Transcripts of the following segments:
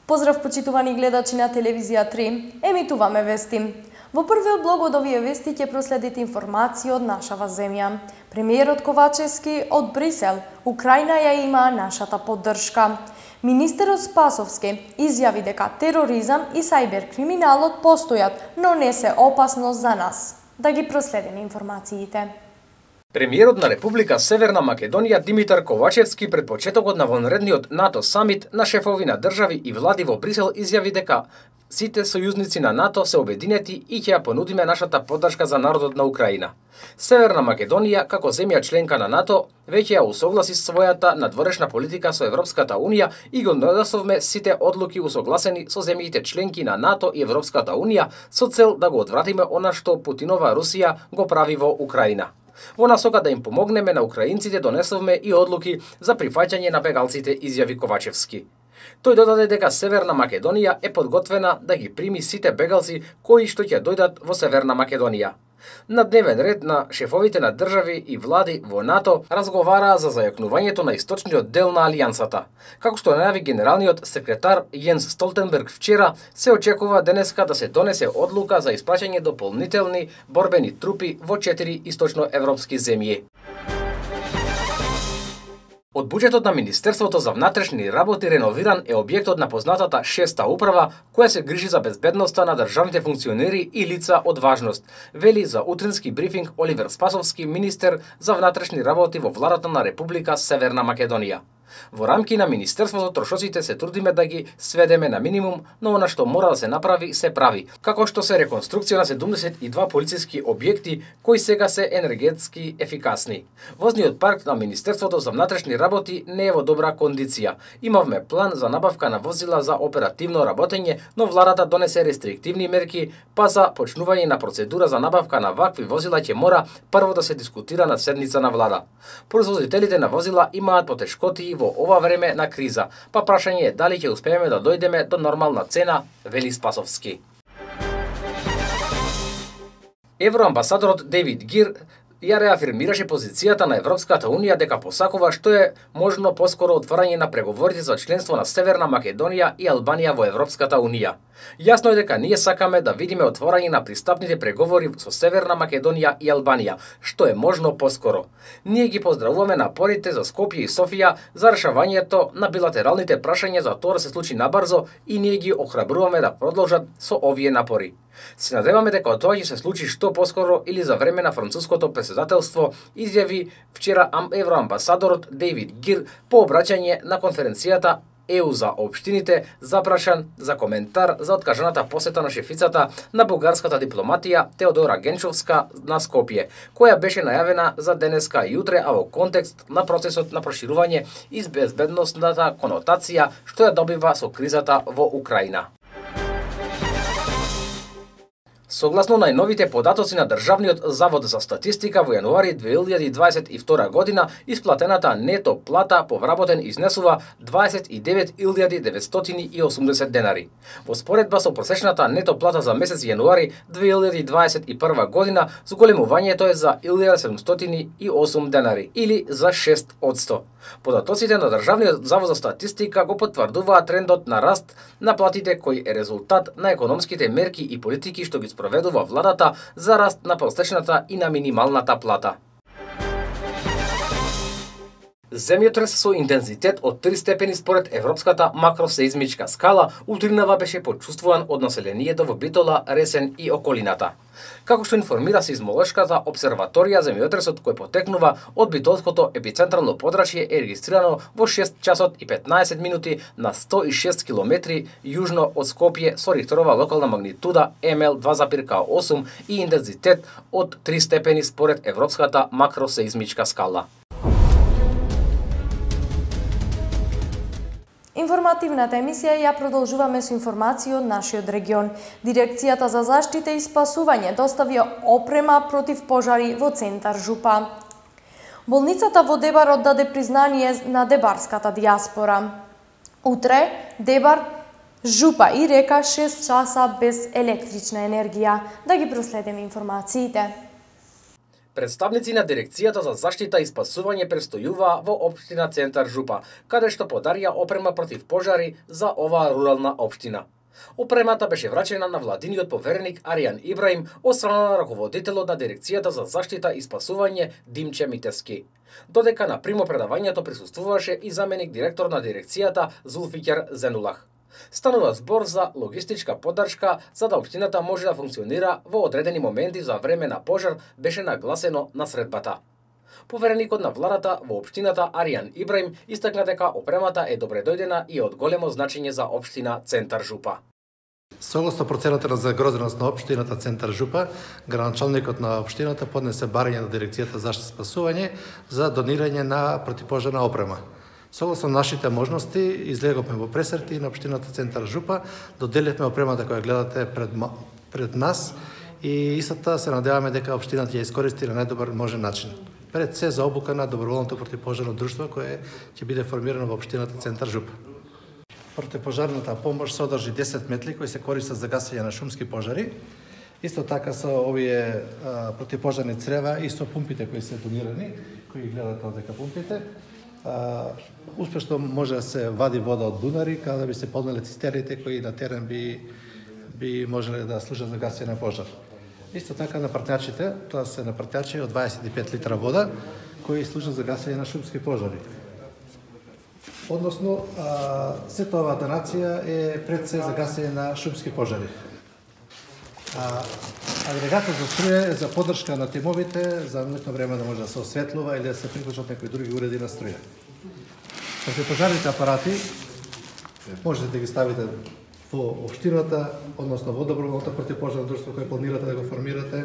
Поздрав почитувани гледачи на телевизија 3, емитуваме вести. Во првиот блог од овие вести ќе проследите информации од нашава земја. Премиерот Ковачевски од Брисел, Украина ја има нашата поддршка. Министерот Спасовски изјави дека тероризам и сајбер-криминалот постојат, но не се опасност за нас. Да ги проследиме информациите. Премиерот на Република Северна Македонија Димитар Ковачевски пред почетокот на вонредниот НАТО самит на шефови на држави и влади во Брисел изјави дека сите сојузници на НАТО се обединети и ќе ја понудиме нашата поддршка за народот на Украина. Северна Македонија, како земја членка на НАТО, веќе ја усогласи својата надворешна политика со Европската Унија и го надасовме сите одлуки усогласени со земјите членки на НАТО и Европската Унија со цел да го одвратиме она што Путинова Русија го прави во Украина. Во насока да им помогнеме на украинците донесовме и одлуки за прифаќање на бегалците, изјави Ковачевски. Тој додаде дека Северна Македонија е подготвена да ги прими сите бегалци кои што ќе дојдат во Северна Македонија. На дневен ред на шефовите на држави и влади во НАТО разговараа за зајакнувањето на источниот дел на алијансата. Како што најави генералниот секретар Јенс Столтенберг вчера, се очекува денеска да се донесе одлука за испраќање дополнителни борбени трупи во 4 источноевропски земји. Од буџетот на Министерството за внатрешни работи реновиран е објектот на познатата 6-та управа, која се грижи за безбедноста на државните функционери и лица од важност, вели за утрински брифинг Оливер Спасовски, министер за внатрешни работи во владата на Република Северна Македонија. Во рамки на Министерството трошоците се трудиме да ги сведеме на минимум, но она што мора да се направи, се прави, како што се реконструкција на 72 полициски објекти кои сега се енергетски ефикасни. Возниот парк на Министерството за внатрешни работи не е во добра кондиција. Имавме план за набавка на возила за оперативно работење, но владата донесе рестриктивни мерки, па за почнување на процедура за набавка на вакви возила ќе мора прво да се дискутира на седница на влада. Производителите на возила имаат потешкоти во ова време на криза, па прашање е дали ќе успееме да дојдеме до нормална цена, вели Спасовски. Евроамбасадорот Дейвид Гир ја реафирмираше позицијата на Европската Унија дека посакува што е можно поскоро отварање на преговорите за членство на Северна Македонија и Албанија во Европската Унија. Јасно е дека ние сакаме да видиме отворање на пристапните преговори со Северна Македонија и Албанија, што е можно поскоро. Ние ги поздравуваме напорите за Скопје и Софија за решавањето на билатералните прашања за тоа да се случи набрзо и ние ги охрабруваме да продолжат со овие напори. Се надеваме дека тоа ќе се случи што поскоро или за време на француското председателство, изјави вчера евроамбасадорот Дейвид Гир по обраќање на конференцијата ЕУ за општините, запрашан за коментар за откажаната посета на шефицата на бугарската дипломатија Теодора Генчовска на Скопје, која беше најавена за денеска и утре, а во контекст на процесот на проширување и безбедносната конотација што ја добива со кризата во Украина. Согласно најновите податоци на Државниот завод за статистика во јануари 2022 година, исплатената нето плата по вработен изнесува 29.980 денари. Во споредба со просечната нето плата за месец јануари 2021 година, зголемувањето е за 1.708 денари или за 6%. Податоците на Државниот завод за статистика го потврдуваат трендот на раст на платите кој е резултат на економските мерки и политики што ги спроведува владата за раст на просечната и на минималната плата. Земјотрес со интензитет од 3 степени според Европската макросеизмичка скала утринава беше почувствуван од населението во Битола, Ресен и околината. Како што информира сеизмолошката обсерваторија, земјотресот кој потекнува од битолското епицентрално подрачје е регистрирано во 6 часот и 15 минути на 106 километри јужно од Скопје со рихтерова локална магнитуда МЛ 2,8 и интензитет од 3 степени според Европската макросеизмичка скала. Информативната емисија ја продолжуваме со информации од нашиот регион. Дирекцијата за заштита и спасување достави опрема против пожари во центар Жупа. Болницата во Дебар оддаде признание на дебарската диаспора. Утре Дебар, Жупа и Река 6 часа без електрична енергија. Да ги проследиме информациите. Представници на Дирекцијата за заштита и спасување престојуваа во општина Центар Жупа, каде што подарија опрема против пожари за оваа рурална општина. Опремата беше врачена на владиниот повереник Аријан Ибраим од страна на раководителот на Дирекцијата за заштита и спасување Димче Митевски. Додека на примопредавањето присуствуваше и заменик директор на дирекцијата Зулфикер Зенулах. Станува збор за логистичка поддршка за да општината може да функционира во одредени моменти за време на пожар, беше нагласено на средбата. Повереникот на владата во општината Аријан Ибраим истакна дека опремата е добредојдена и од големо значење за општина Центар Жупа. Согласно процената на загрозеност на општината Центар Жупа, градоначалникот на општината поднесе барање на Дирекцијата за заштита и спасување за донирање на противпожарна опрема. Согласно нашите можности, излеговме во пресрти на општината Центар Жупа, доделивме опремата која гледате пред нас и истата се надеваме дека општината ќе искористи на најдобар можен начин. Пред се за обука на доброволното противпожарно друштво кое ќе биде формирано во општината Центар Жупа. Противпожарната помош содржи 10 метли кои се користат за гасење на шумски пожари. Исто така со овие противпожарни црева и со пумпите кои се донирани, кои гледате одека пумпите. Успешно може да се вади вода од бунари, каде би се полнеле цистерните кои на терен би можеле да служат за гасење на пожар. Исто така на партњачите, тоа се на партњачи од 25 литра вода кои служат за гасење на шумски пожари. Односно, сета оваа донација е пред се за гасење на шумски пожари. Агрегатот за струја е за поддршка на тимовите, за ноќно време да може да се осветлува или да се приклучат некои други уреди на струја. Противпожарните апарати можете да ги ставите во општината, односно во доброволното противпожарно друштво кое планирате да го формирате.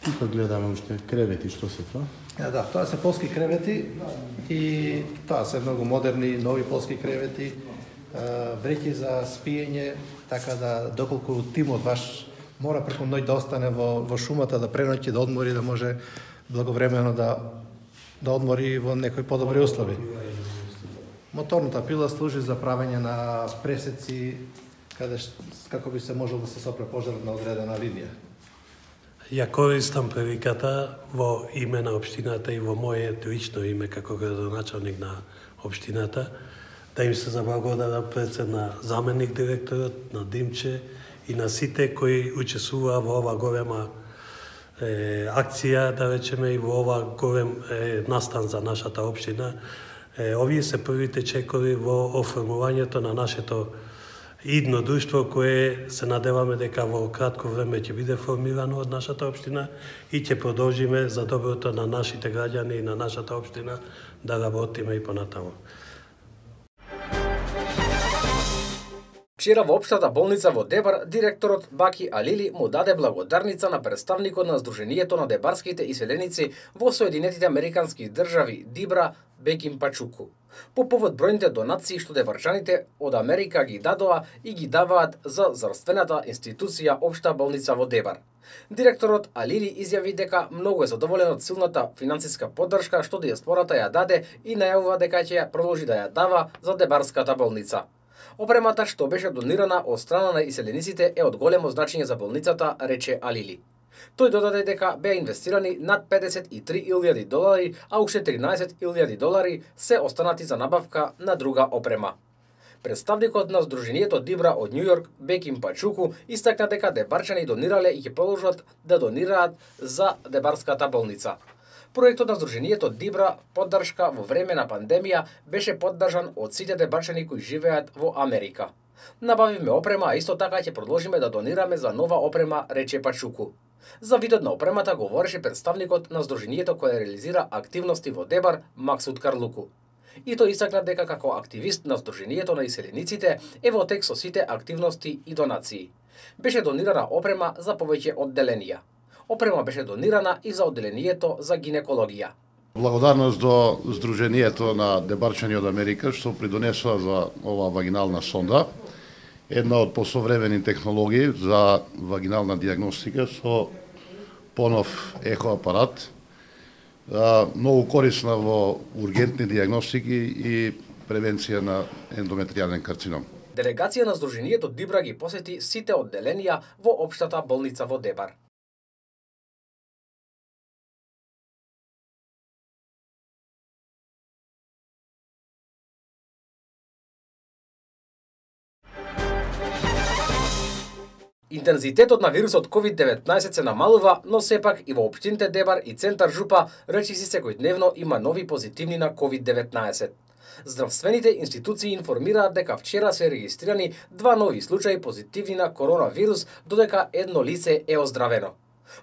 Тука гледаме уште кревети, што се тоа? Да, тоа се полски кревети и тоа се многу модерни, нови полски кревети, вреќи за спиење, така да доколку тимот ваш мора преку ноќ да остане во шумата, да преноќи, да одмори, да може благовремено да одмори во некои подобри услови. Моторната пила служи за правење на пресеци како би се можело да се сопре пожар на одредена линија. Ја користам приликата во име на општината и во моје лично име како градоначалник на општината да им се заблагодарам пред се на заменик директорот, на Димче и на сите кои учествуваа во ова голема акција, да речеме, и во ова голем настан за нашата општина. Овие се првите чекори во оформувањето на нашето идно друштво кое се надеваме дека во кратко време ќе биде формирано од нашата општина и ќе продолжиме за доброто на нашите граѓани и на нашата општина да работиме и понатаму. Вчера во општата болница во Дебар, директорот Баки Алили му даде благодарница на представникот на Сдруженијето на дебарските иселеници во Соединетите Американски држави Дибра Беким Пачуку, по повод бројните донации што дебарчаните од Америка ги дадоа и ги даваат за здравствената институција Општа болница во Дебар. Директорот Алили изјави дека многу е задоволен од силната финансиска поддршка што диаспората ја даде и најавува дека ќе ја продолжи да ја дава за дебарската болница. Опремата што беше донирана од страна на иселениците е од големо значење за болницата, рече Алили. Тој додаде дека беа инвестирани над $53,000, а уште $13,000 се останати за набавка на друга опрема. Представникот на Сдруженијето Дибра од Њу Јорк, Беким Пачуку, истакна дека дебарчани донирале и ќе продолжат да донираат за дебарската болница. Проектот на Сдруженијето Дибра поддршка во време на пандемија беше поддржан од сите дебарчани кои живеат во Америка. Набавивме опрема, а исто така ќе продолжиме да донираме за нова опрема, рече Пачуку. За видот на опремата говореше представникот на Сдруженијето кој реализира активности во Дебар, Максут Карлуку. И тој истакна дека како активист на Сдруженијето на иселениците е во тек со сите активности и донации. Беше донирана опрема за повеќе одделенија. Опрема беше донирана и за одделението за гинекологија. Благодарност до Сдруженијето на дебарчани од Америка што придонесува за оваа вагинална сонда, една од посовремени технологии за вагинална диагностика со понов ехоапарат, многу корисна во ургентни диагностики и превенција на ендометријален карцином. Делегација на Сдруженијето Дибра ги посети сите одделенија во општата болница во Дебар. Интензитетот на вирусот COVID-19 се намалува, но сепак и во општините Дебар и Центар Жупа речиси секојдневно има нови позитивни на COVID-19. Здравствените институции информираат дека вчера се регистрирани 2 нови случаи позитивни на коронавирус, додека едно лице е оздравено.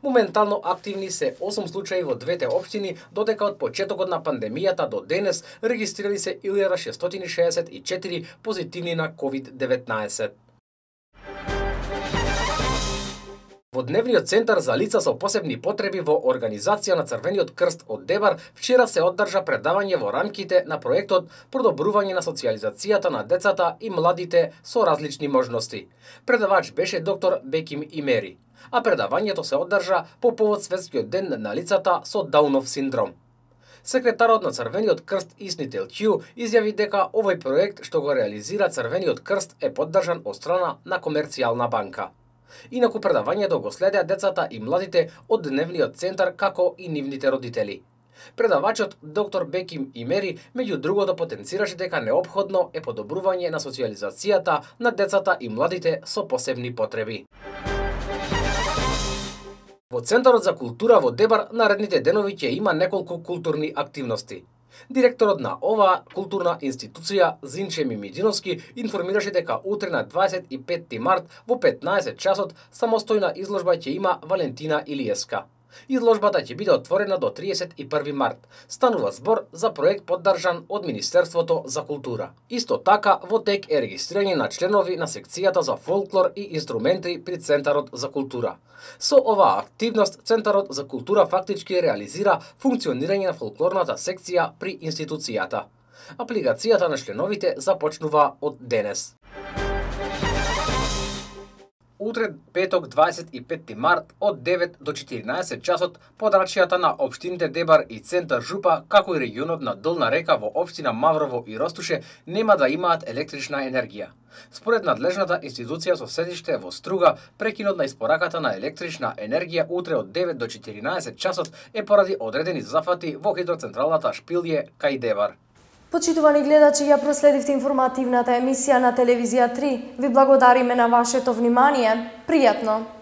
Моментално активни се 8 случаи во двете општини, додека од почетокот на пандемијата до денес регистрирани се 1664 позитивни на COVID-19. Во Дневниот центар за лица со посебни потреби во Организација на Црвениот крст од Дебар вчера се одржа предавање во рамките на проектот Продобрување на социјализацијата на децата и младите со различни можности. Предавач беше доктор Беким Имери, а предавањето се одржа по повод Светскиот ден на лицата со Даунов синдром. Секретарот на Црвениот крст Исни Телчиу изјави дека овој проект што го реализира Црвениот крст е поддржан од страна на Комерцијална банка. Инаку предавањето го следеа децата и младите од Дневниот центар како и нивните родители. Предавачот доктор Беким Имери меѓу другото потенцираше дека неопходно е подобрување на социјализацијата на децата и младите со посебни потреби. Во Центарот за култура во Дебар наредните денови ќе има неколку културни активности. Директорот на оваа културна институција Зинче Мимидиновски информираше дека утре на 25 март во 15 часот самостојна изложба ќе има Валентина Илиеска. Изложбата ќе биде отворена до 31 март. Станува збор за проект поддржан од Министерството за култура. Исто така, во тек е регистрирање на членови на секцијата за фолклор и инструменти при Центарот за култура. Со оваа активност, Центарот за култура фактички реализира функционирање на фолклорната секција при институцијата. Апликацијата на членовите започнува од денес. Утре, петок, 25 март, од 9 до 14 часот, подрачјата на општините Дебар и Центар Жупа, како и регионот на Долна река во општина Маврово и Ростуше, нема да имаат електрична енергија. Според надлежната институција со седиште во Струга, прекинот на испораката на електрична енергија утре од 9 до 14 часот е поради одредени зафати во хидроцентралата Шпилје кај Дебар. Почитувани гледачи, ја проследивте информативната емисија на телевизија 3. Ви благодариме на вашето внимание. Пријатно!